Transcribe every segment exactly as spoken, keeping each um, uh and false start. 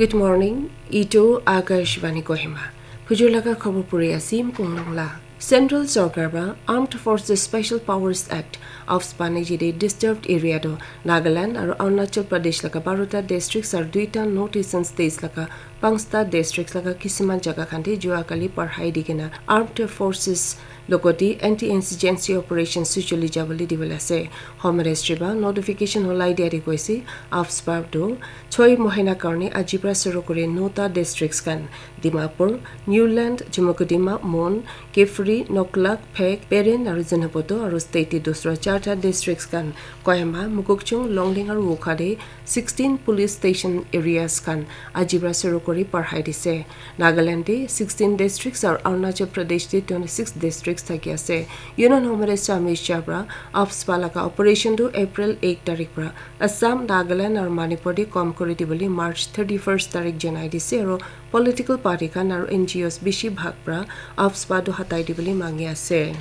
Good morning. Itu Akashvani Kohima. Phujur laga khobor puri asim Kunglung la. Central Sorkar ba Armed Forces Special Powers Act, AFSPA, niji de disturbed area do Nagaland aru Arunachal Pradesh laga barota districts aru duita North Eastern states laga pangsta districts laga kisiman jaga khan te jua kali parhai di kena Armed Forces logoti anti-insurgency operation suchuli jaboli dibole ase. Home Ministry ba notification holai dia de koise, AFSPA do choi mohina karne aji pra suru kuri nota districts khan Dimapur, Newland, Chumukedima, Mon, Kiphire, Noklak, Phek, Peren aru Zunheboto aru state te dusra charta districts khan Kohima, Mokokchung, Longleng aru Wokha de sixteen police station areas khan aji pra suru kuri parhai dise. Nagaland te sixteen districts aru Arunachal Pradesh te twenty-six districts thaki ase. Union Home Minister Amit Shah pra AFSPA laga operation tu April eight tarik pra Assam, Nagaland aru Manipur te kom kuri dibole March thirty-first tarik janai dise aru political party khan aru N G Os bishi bhag pra AFSPA tu hatai dibole mangi ase.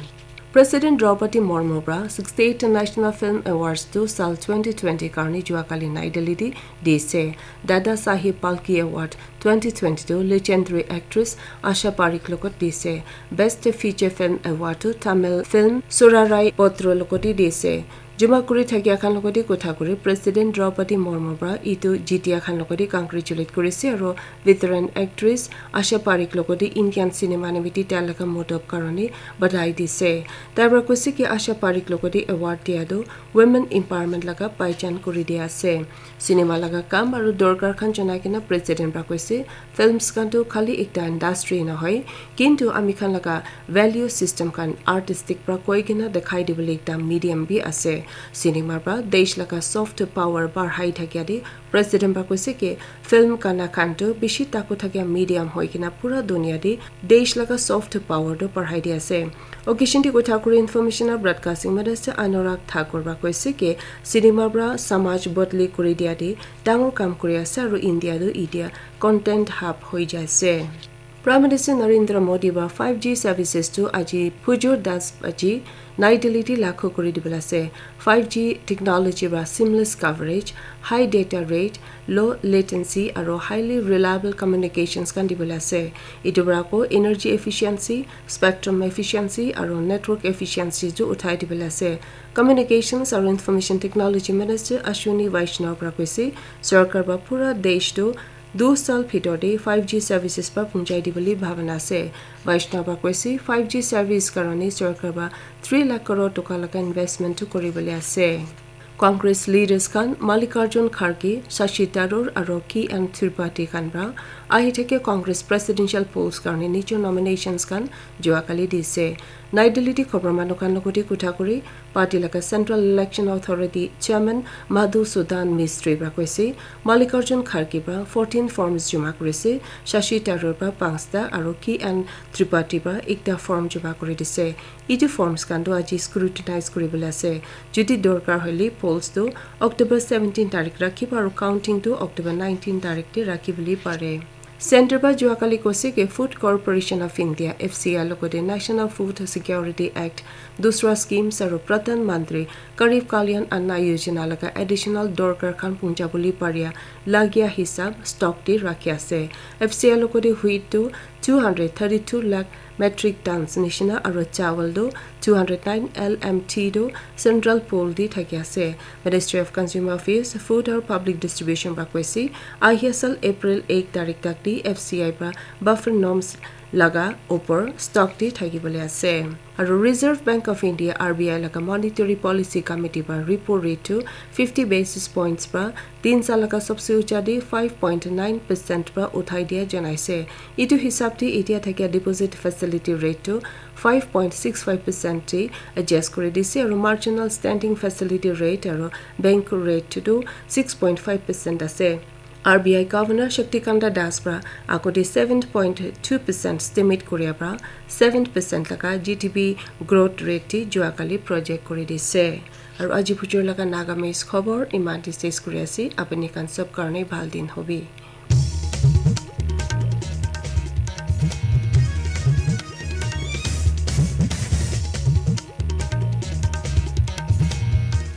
President Draupadi Murmu pra sixty-eight National Film Awards tu sal twenty twenty karni jua kali Nai Delhi te dise. Dada Saheb Phalke Award twenty twenty-two legendary actress Asha Parekh logot dise. Best Feature Film Award tu Tamil film Surarai Potru logot dise. Juma kuri thakia khan logot kotha kuri President Draupadi Murmu pra itu jitia khan logot congratulate kurise aru veteran actress Asha Parekh logot Indian cinema nimiti tai laga modop karone badhai dise. Tai pra koise ki Asha Parekh logot award dia tu women empowerment laga paijan kuri dia ase. Cinema laga kam aru dorkar khan janai kena President pra koise, films khan tu khali ekta industry nohoi, kintu ami khan laga value system khan artistic pra koi kena dekhai dibole ekta medium bi ase. Cinema pra desh laga soft power barhai thakia de President pra koise ki film gana khan tu bishi taku thakia medium hoi kena pura dunia de desh laga soft power tu barhai di ase. Occasion te kotha kuri Information and Broadcasting Minister Anurag Thakur pra koise ki cinema pra samaj bodli kuri dia de dangor kam kuri ase aru India tu itia content hub hoi jai ase. Prime Minister Narendra Modi pra five G services tu aji phujur das baji Nai Delhi te lakhu kuri dibole ase. Five G technology pra seamless coverage, high data rate, low latency aru highly reliable communications khan dibole ase. Itu pra ko energy efficiency, spectrum efficiency aru network efficiency tu uthai dibole ase. Communications aru Information Technology Minister Ashwini Vaishnaw pra koise, sorkar pra pura desh tu du sal bhitor te five G services pra punjai dibole bhabana ase. Vaishnaw pra koise, five G service karone sorkar pra three lakh crore toka laga investment tu kuri bole ase. Congress leaders khan Mallikarjun Kharge, Shashi Tharoor aru K N Tripathi khan pra ahi thake Congress presidential polls karone nijor nominations khan jua kali dise. Nai Delhi te khobor manu khan logot kotha kuri party laga Central Election Authority Chairman Madhusudan Mistry pra koise, Mallikarjun Kharge pra fourteen forms juma kurise, Shashi Tharoor pra panchta aru K N Tripathi pra ekta form juma kuri dise. Itu forms khan tu aji scrutinize kuri bole ase. Jodi dorkar hoile polls tu October seventeen tarik rakhibo aru counting tu October nineteen tarik te rakhi bole pare. Centre pra jua kali koise ki Food Corporation of India, F C I, logot National Food Security Act, dusra schemes aru Pradhan Mantri Garib Kalyan Anna Yojana laga additional dorkar khan punja bole paria lagia hisab stock te rakhi ase. F C I logot wheat tu two hundred thirty-two lakh metric tons nishina aru chawal tu two hundred nine L M T tu central pool te thaki ase. Ministry of Consumer Affairs, Food aru Public Distribution pra koise, ahi asal April eight tarik tak te F C I pra buffer norms laga upor stock te thaki bole ase. Aru Reserve Bank of India, R B I, laga Monetary Policy Committee pra repo rate tu fifty basis points pra tin sal laga sabse ucha te five point nine percent pra uthai dia janaise. Itu hisab te itia thakia deposit facility rate tu five point six five percent te adjust kuri dise aru marginal standing facility rate aru bank rate tu six point five percent ase. R B I Governor Shaktikanta Das pra agote seven point two percent estimate kuria pra seven percent laga G D P growth rate te jua kali project kuri dise. Aru aji phujur laga Nagamese khobor iman te ses kuri ase. Apuni khan sob karone bhal din hobi.